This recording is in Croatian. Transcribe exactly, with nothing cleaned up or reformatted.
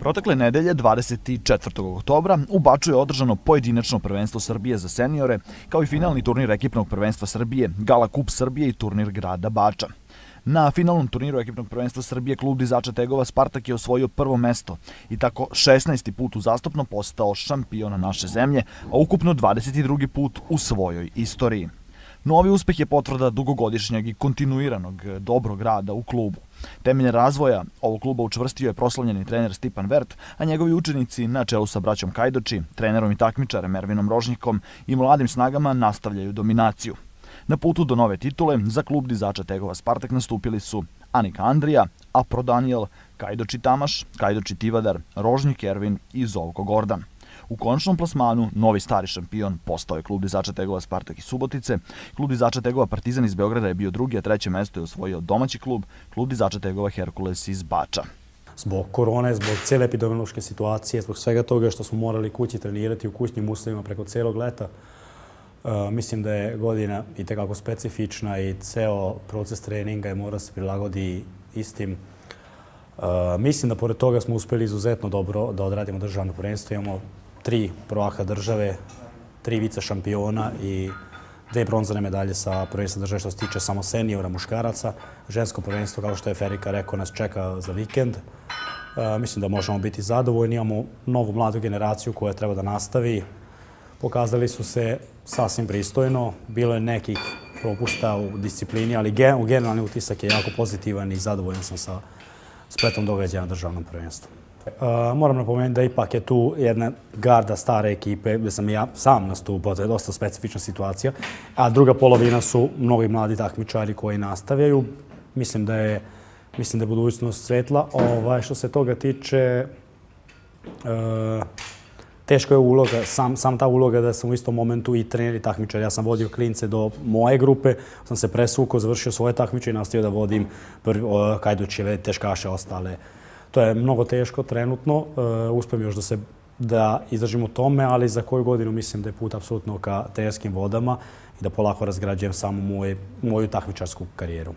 Protekle nedelje, dvadeset četvrtog oktobra, u Baču je održano pojedinačno prvenstvo Srbije za seniore, kao i finalni turnir ekipnog prvenstva Srbije, Gala Kup Srbije i turnir grada Bača. Na finalnom turniru ekipnog prvenstva Srbije klub dizača tegova Spartak je osvojio prvo mesto i tako šesnaesti put uzastopno postao šampion naše zemlje, a ukupno dvadeset drugi put u svojoj istoriji. Novi uspeh je potvrda dugogodišnjeg i kontinuiranog dobrog rada u klubu. Temelj razvoja ovog kluba učvrstio je proslavljeni trener Stipan Vert, a njegovi učenici na čelu sa braćom Kajdoči, trenerom i takmičarem Ervinom Rožnjikom i mladim snagama nastavljaju dominaciju. Na putu do nove titule za klub dizača tegova Spartak nastupili su Anika Andrija, Apro Daniel, Kajdoči Tamaš, Kajdoči Tivadar, Rožnjik Ervin i Zovko Gordan. U končnom plasmanu novi stari šampion postao je klub dizača tegova Spartak iz Subotice. Klub dizača tegova Partizan iz Beograda je bio drugi, a treće mesto je osvojio domaći klub, klub dizača tegova Herkules iz Bača. Zbog korone, zbog cijele epidemiološke situacije, zbog svega toga što smo morali kući trenirati u kućnim uslovima preko cijelog leta, mislim da je godina itekako specifična i ceo proces treninga je mora se prilagodi istim. Mislim da pored toga smo uspjeli izuzetno dobro da odradimo državno prvenstvo. Imamo tri prvaka države, tri vice šampiona i dve bronzane medalje sa prvenstva države što se tiče samo seniora muškaraca. Žensko prvenstvo, kao što je Ferika rekao, nas čeka za vikend. Mislim da možemo biti zadovoljni. Imamo novu mladu generaciju koja treba da nastavi. Pokazali su se sasvim pristojno. Bilo je nekih propusta u disciplini, ali generalni utisak je jako pozitivan i zadovoljan sam sa spletom događaja na državnom prvenstvu. Moram napomenuti da ipak je tu jedna garda stare ekipe gdje sam ja sam nastupao, to je dosta specifična situacija, a druga polovina su mnogi mladi takmičari koji nastavljaju. Mislim da je, mislim da je budućnost svetla. Ovaj, što se toga tiče, teško je uloga, sam, sam ta uloga da sam u istom momentu i trener i takmičar. Ja sam vodio klince do moje grupe, sam se presvukao, završio svoje takmiče i nastavio da vodim Kajdočeve, teškaše, ostale. To je mnogo teško trenutno, uspijem još da se da izdržim u tome, ali za koju godinu mislim da je put apsolutno ka trenerskim vodama i da polako razgrađujem samo moju takmičarsku karijeru.